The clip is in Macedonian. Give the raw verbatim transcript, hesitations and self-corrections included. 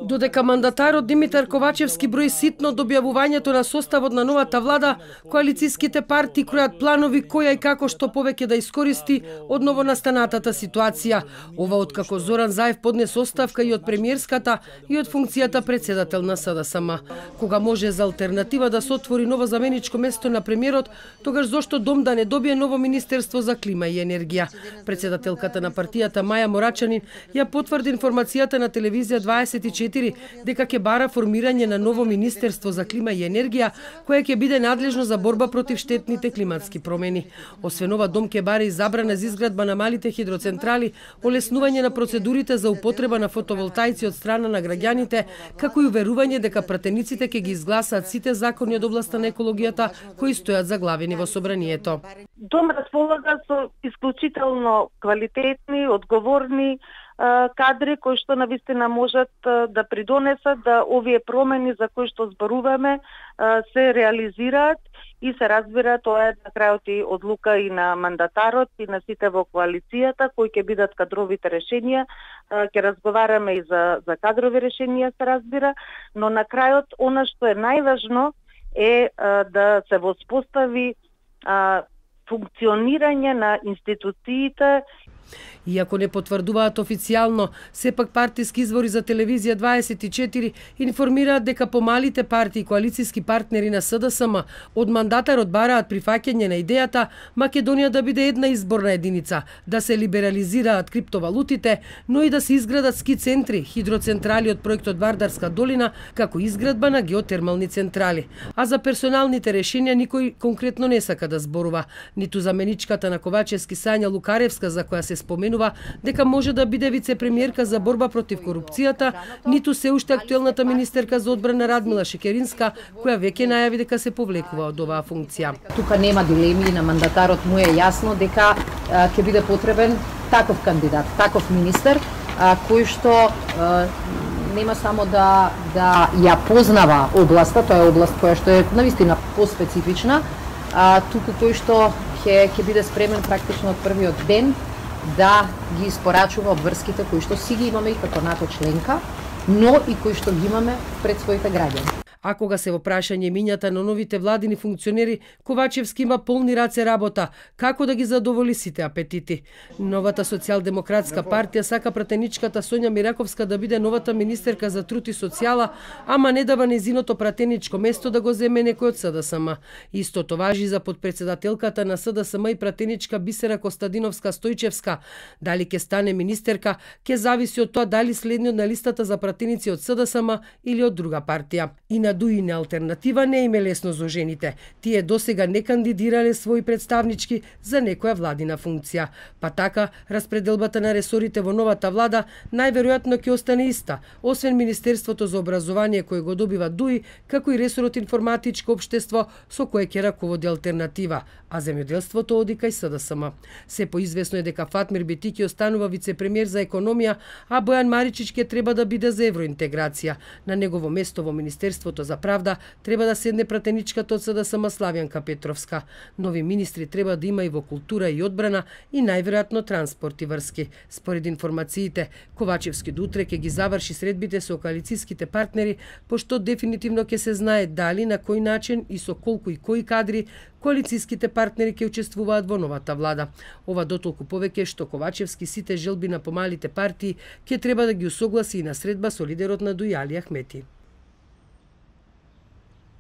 Додека мандатарот Димитар Ковачевски брои ситно до објавувањето на составот на новата влада, коалицијските партии кројат планови која и како што повеќе да искористи од новонастанатата ситуација. Ова откако Зоран Заев поднесе оставка и од премиерската и од функцијата председател на СДСМ. Кога може за алтернатива да се отвори ново заменичко место на премиерот, тогаш зошто Дом да не добие ново Министерство за клима и енергија? Председателката на партијата Маја Морачанин ја потврди информацијата на телевизија дваесет и четири дека ќе бара формирање на ново Министерство за клима и енергија кое ќе биде надлежно за борба против штетните климатски промени. Освен ова, Дом ќе бара и забрана за изградба на малите хидроцентрали, олеснување на процедурите за употреба на фотоволтаици од страна на граѓаните, како и уверување дека пратениците ќе ги изгласаат сите закони од областа на екологијата кои стојат заглавени во собранието. Дом располага со исклучително квалитетни, одговорни кадри кои што навистина можат да придонесат да овие промени за кои што зборуваме се реализираат и се разбира тоа е на крајот и одлука и на мандатарот и на сите во коалицијата кои ќе бидат кадровите решенија. Ќе разговараме и за за кадрови решенија се разбира, но на крајот она што е најважно е да се воспостави функционирање на институциите. Иако не потврдуваат официјално, сепак партиски извори за телевизија дваесет и четири информираат дека помалите партии и коалицијски партнери на СДСМ од мандатарот бараат прифаќање на идејата Македонија да биде една изборна единица, да се либерализираат криптовалутите, но и да се изградат ски центри, хидроцентрали од проектот Вардарска долина, како изградба на геотермални централи. А за персоналните решенија никој конкретно не сака да зборува, ниту заменичката на Ковачевски Сања Лукаревска за која се споменува дека може да биде вице-премиерка за борба против корупцијата, ниту се уште актуелната министерка за одбрана Радмила Шекеринска, која веќе најави дека се повлекува од оваа функција. Тука нема дилеми, на мандатарот му е јасно дека ќе биде потребен таков кандидат, таков министер, а, кој што а, нема само да да ја познава областа, тоа е област која што е навистина поспецифична, а туку кој што ќе ќе биде спремен практично од првиот ден да ги испорачува обврските кои што си ги имаме и како НАТО членка, но и кои што ги имаме пред своите граѓани. А кога се во прашање мињата на новите владини функционери, Ковачевски има полни раце работа, како да ги задоволи сите апетити. Новата социјалдемократска партија сака пратеничката Сонја Мираковска да биде новата министерка за труд и социјала, ама не дава незиното пратеничко место да го земе некој од СДСМ. Истото важи за подпредседателката на СДСМ и пратеничка Бисера Костадиновска Стојчевска. Дали ќе стане министерка, ќе зависи од тоа дали следниот на листата за пратеници од СДСМ или од друга партија. И на Дуи на алтернатива не име лесно за жените. Тие досега не кандидирале своји представнички за некоја владина функција. Па така, распределбата на ресорите во новата влада најверојатно ќе остане иста, освен Министерството за образование кое го добива Дуи, како и ресорот информатичко општество со кое ќе раководи алтернатива, а земјоделството оди кај СДСМ. Се поизвестно е дека Фатмир Битики останува вице-премиер за економија, а Бојан Маричич ќе треба да биде за евроинтеграција. На негово место во Министерството за правда треба да седне пратеничката од СДСМ Славјанка Петровска. Нови министри треба да има и во култура и одбрана и најверојатно транспорт и врски. Според информациите, Ковачевски до утре ќе ги заврши средбите со коалицијските партнери, пошто дефинитивно ќе се знае дали, на кој начин и со колку и кои кадри коалицијските партнери ќе учествуваат во новата влада. Ова дотолку повеќе што Ковачевски сите желби на помалите партии ќе треба да ги усогласи и на средба со лидерот на Дуи Али Ахмети.